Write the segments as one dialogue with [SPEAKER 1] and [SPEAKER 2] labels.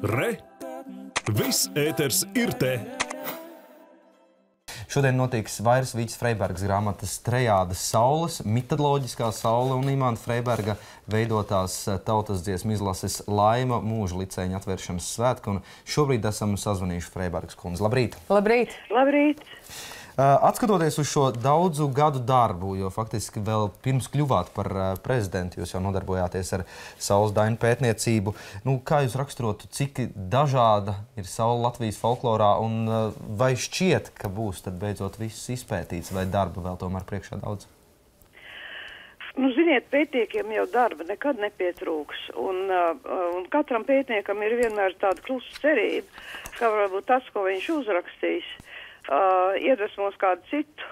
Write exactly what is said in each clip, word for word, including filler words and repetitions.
[SPEAKER 1] Re! Viss ēters ir te!
[SPEAKER 2] Šodien notiks Vairas Vīķes Freibergas grāmatas Trejādas saules, mitoloģiskā saule un Imanta Freiberga veidotās tautas dziesmu izlases Laima mūža licēņa atvēršanas svētki. Un šobrīd esam sazvanījuši Freibergas kundzi. Labrīt!
[SPEAKER 3] Labrīt!
[SPEAKER 4] Labrīt!
[SPEAKER 2] Atskatoties uz šo daudzu gadu darbu, jo faktiski vēl pirms kļuvāt par prezidentu, jūs jau nodarbojāties ar saules dainu pētniecību. Nu, kā jūs raksturotu, cik dažāda ir saule Latvijas folklorā un vai šķiet, ka būs tad beidzot viss izpētīts vai darba vēl tomēr priekšā daudz?
[SPEAKER 4] Nu, ziniet, pētniekiem jau darba nekad nepietrūks, un, uh, un katram pētniekam ir vienmēr tāda klusa cerība, ka varbūt tas, ko viņš uzrakstīs, Uh, iedvesmos kādu citu,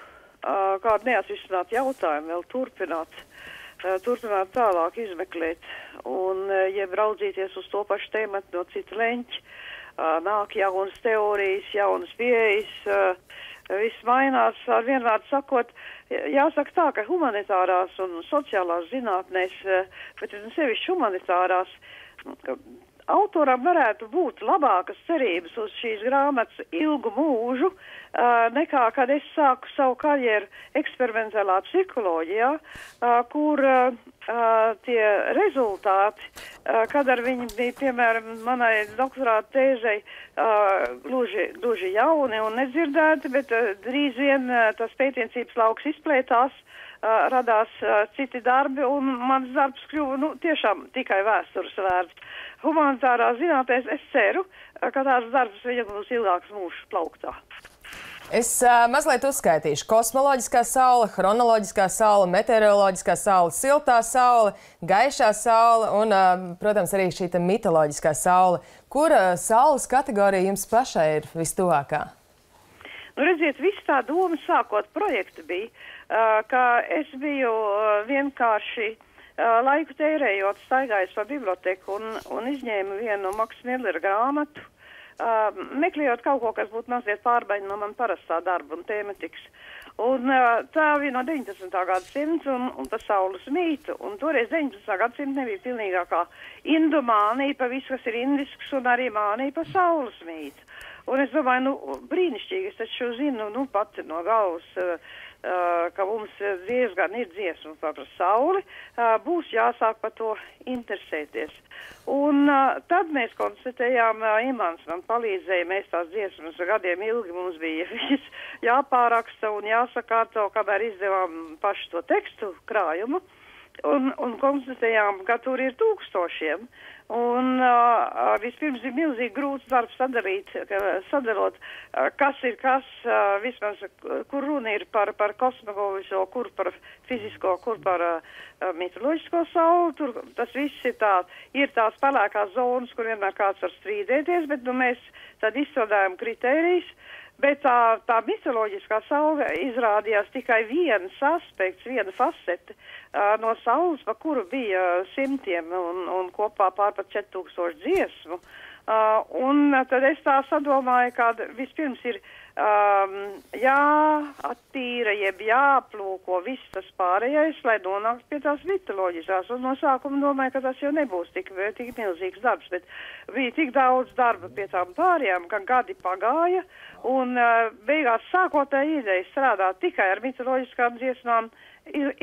[SPEAKER 4] uh, kādu neatrisinātu jautājumu vēl turpināt, uh, turpināt tālāk izmeklēt un uh, jeb raudzīties uz to pašu tēmatu no cita leņķa. Uh, nāk jaunas teorijas, jaunas pieejas, uh, viss mainās, ar vienvārdu sakot, jāsaka tā, ka humanitārās un sociālās zinātnēs, uh, bet sevišķi humanitārās, uh, autoram varētu būt labākas cerības uz šīs grāmatas ilgu mūžu, uh, nekā, kad es sāku savu karjeru eksperimentālā psiholoģijā, uh, kur uh, uh, tie rezultāti, uh, kad ar viņi bija, piemēram, manai doktorāta tēzei, uh, gluži, gluži jauni un nedzirdēti, bet uh, drīz vien uh, tas pētniecības lauks izplētās, uh, radās uh, citi darbi, un mans darbs kļuva, nu, tiešām tikai vēstures vērts. Humanitārā zinātnēs es ceru, ka tās darbs viņam būs ilgāks mūžs plauktā.
[SPEAKER 3] Es uh, mazliet uzskaitīšu. Kosmoloģiskā saule, chronoloģiskā saule, meteoroloģiskā saule, siltā saule, gaišā saule un, uh, protams, arī šī mitoloģiskā saule. Kura saules kategorija jums pašai ir vistuvākā?
[SPEAKER 4] Nu, redziet, viss tā doma sākot projektu bija, uh, ka es biju uh, vienkārši Uh, laiku tērējot, staigājis pa biblioteku un, un izņēmu vienu Maksa Millera grāmatu, uh, meklējot kaut ko, kas būtu mazliet pārbaļ no man parastā darba un tēmatikas. Un uh, tā bija no deviņdesmitā gadsimta un, un pa saules mītu. Un toreiz deviņdesmitā gadsimta nebija pilnīgākā indu mānija pa visu, kas ir indisks, un arī mānija pa saules mītu. Un es domāju, nu, brīnišķīgi, es taču zinu, nu, pati no galvas, uh, Uh, ka mums diezgan ir dziesma par sauli, uh, būs jāsāk par to interesēties. Un uh, tad mēs konstatējām, uh, Imants man palīdzēja, mēs tās dziesmas gadiem ilgi mums bija jāpāraksta un jāsakārto, kamēr izdevām pašu to tekstu krājumu, un, un konstatējām, ka tur ir tūkstošiem. Un uh, vispirms ir milzīgi grūts darbs sadarīt, sadarot, uh, kas ir kas, uh, vismaz, kur runa ir par, par kosmoloģisko, kur par fizisko, kur par uh, mitoloģisko sauli. Tur tas viss ir tā, ir tās pelēkās zonas, kur vienmēr kāds var strīdēties, bet nu, mēs tad izstrādājam kritērijas. Bet tā, tā mitoloģiskā saule izrādījās tikai viens aspekts, viena fasete uh, no saules, pa kuru bija simtiem un, un kopā pār pat četri tūkstoši dziesmu. Uh, un tad es tā sadomāju, ka vispirms ir um, jāattīra, jeb jāplūko viss tas pārējais, lai nonāktu pie tās mitoloģiskās. Un no sākuma domāju, ka tas jau nebūs tik, tik milzīgs darbs, bet bija tik daudz darba pie tām pārējām, ka gadi pagāja. Un uh, beigās sākotnēji ideja strādāt tikai ar mitoloģiskām dziesmām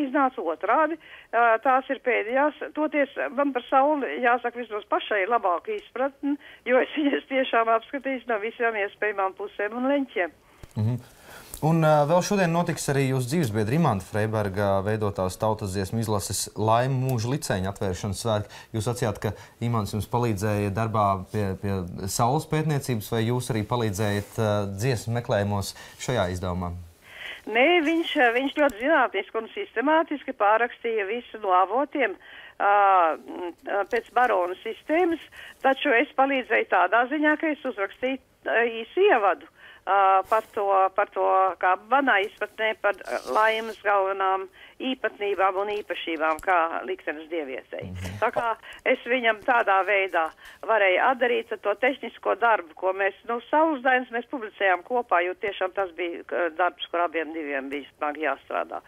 [SPEAKER 4] iznāca otrādi. Uh, tās ir pēdējās. Toties man par sauli jāsaka vismaz pašai labāka izpratne, jo es viņas tiešām apskatīju no visām iespējamām pusēm un leņķiem.
[SPEAKER 2] Mm-hmm. Un uh, vēl šodien notiks arī jūsu dzīvesbiedra Imanta Freiberga veidotās tautas dziesmu izlases Laima mūža licēņa atvēršanas svētki. Jūs sacījāt, ka Imants jums palīdzēja darbā pie, pie saules pētniecības, vai jūs arī palīdzējat uh, dziesmu meklējumos šajā izdevumā?
[SPEAKER 4] Nē, viņš, viņš ļoti zinātniski un sistemātiski pārakstīja visu no avotiem uh, pēc barona sistēmas, taču es palīdzēju tādā ziņā, ka es uzrakstīju uh, īsu ievadu. Uh, par, to, par to, kā manā izpratnē, par laimas galvenām īpatnībām un īpašībām, kā liktenes dievietei. Mm-hmm. Tā kā es viņam tādā veidā varēju atdarīt to tehnisko darbu, ko mēs, nu, saules dainas mēs publicējām kopā, jo tiešām tas bija darbs, kur abiem diviem bija smagi jāstrādā.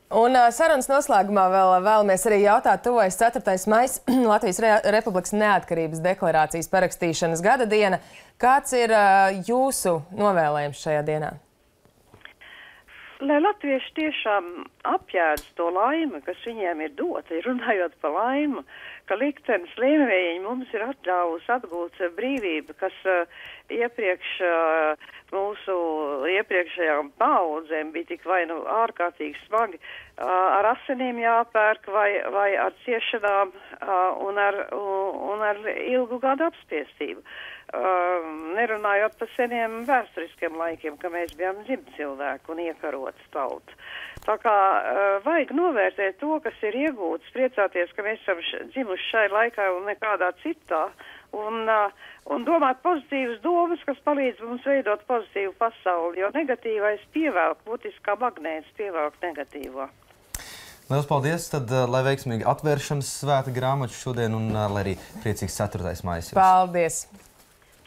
[SPEAKER 3] Un uh, sarunas noslēgumā vēl vēlamies arī jautāt, tuvojas ceturtais maijs, Latvijas Re Republikas neatkarības deklarācijas parakstīšanas gada diena. Kāds ir uh, jūsu novēlējums šajā dienā?
[SPEAKER 4] Lai latvieši tiešām apjēdz to laimi, kas viņiem ir dota, runājot par laimu, ka liktenis lēmējiņi mums ir atļāvusi atgūt brīvību, kas uh, iepriekš uh, mūsu iepriekšējām paudzēm bija tik vai nu ārkārtīgi smagi, uh, ar asinīm jāpērk vai, vai ar ciešanām uh, un, ar, uh, un ar ilgu gadu apspiestību. Uh, nerunājot par seniem vēsturiskiem laikiem, ka mēs bijām dzimtcilvēki un iekarotas tauta. Tā kā uh, vajag novērtēt to, kas ir iegūts, priecāties, ka mēs esam dzimuši šai laikā un nekādā citā, un, uh, un domāt pozitīvas domas, kas palīdz mums veidot pozitīvu pasauli, jo negatīvais pievelk, būtiski kā magnēts pievelk negatīvo.
[SPEAKER 2] Lielas paldies, tad uh, lai veiksmīgi atvēršanas svēta grāmatu šodien un uh, lai arī priecīgs ceturtais maijs.
[SPEAKER 3] Paldies!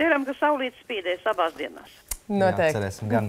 [SPEAKER 4] Ceram, ka saulīte spīdēs abās dienās.
[SPEAKER 3] Noteikti.
[SPEAKER 2] Jā, cerēsim gan.